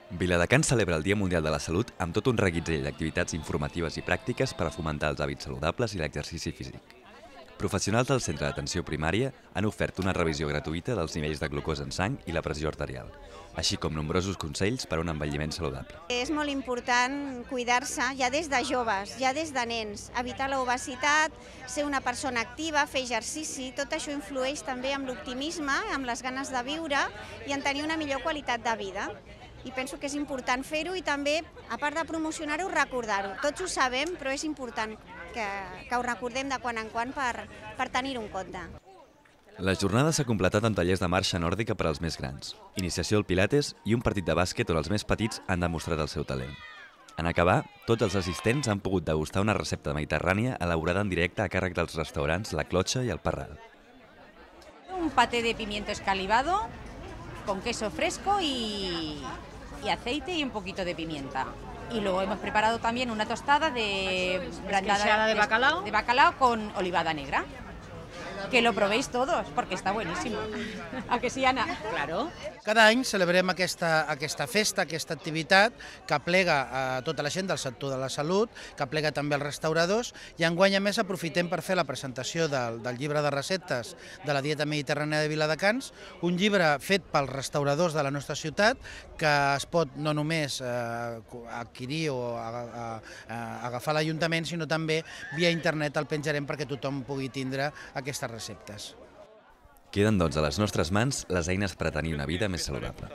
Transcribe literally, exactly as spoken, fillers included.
Viladecans celebra el Dia Mundial de la Salut amb tot un reguitzell d'activitats informatives i pràctiques per a fomentar els hàbits saludables i l'exercici físic. Professionals del centre d'atenció primària han ofert una revisió gratuïta dels nivells de glucosa en sang i la pressió arterial, així com nombrosos consells per a un envelliment saludable. És molt important cuidar-se ja des de joves, ja des de nens, evitar l'obesitat, ser una persona activa, fer exercici, tot això influeix també amb l'optimisme, amb les ganes de viure i en tenir una millor qualitat de vida. I penso que és important fer-ho i també, a part de promocionar-ho, recordar-ho. Tots ho sabem, però és important que, que ho recordem de quan en quan per, per tenir-ho en compte. La jornada s'ha completat amb tallers de marxa nòrdica per als més grans, iniciació al pilates i un partit de bàsquet on els més petits han demostrat el seu talent. En acabar, tots els assistents han pogut degustar una recepta mediterrània elaborada en directe a càrrec dels restaurants La Clotxa i El Parral. Un paté de pimiento escalivado con queso fresco y, y aceite y un poquito de pimienta. Y luego hemos preparado también una tostada de brandada de bacalao, de bacalao con olivada negra. Que lo probéis todos, porque está buenísimo. ¿A que sí, Ana? Claro. Cada any celebrem aquesta, aquesta festa, aquesta activitat que plega a tota la gent del sector de la salut, que plega també els restauradors, i enguany a més aprofitem per fer la presentació del, del llibre de receptes de la dieta mediterrània de Viladecans, un llibre fet pels restauradors de la nostra ciutat, que es pot no només eh, adquirir o a, a, a agafar a l'Ajuntament, sinó també via internet el penjarem perquè tothom pugui tindre aquestes receptes. Queden, doncs, a les nostres mans les eines per a tenir una vida més saludable.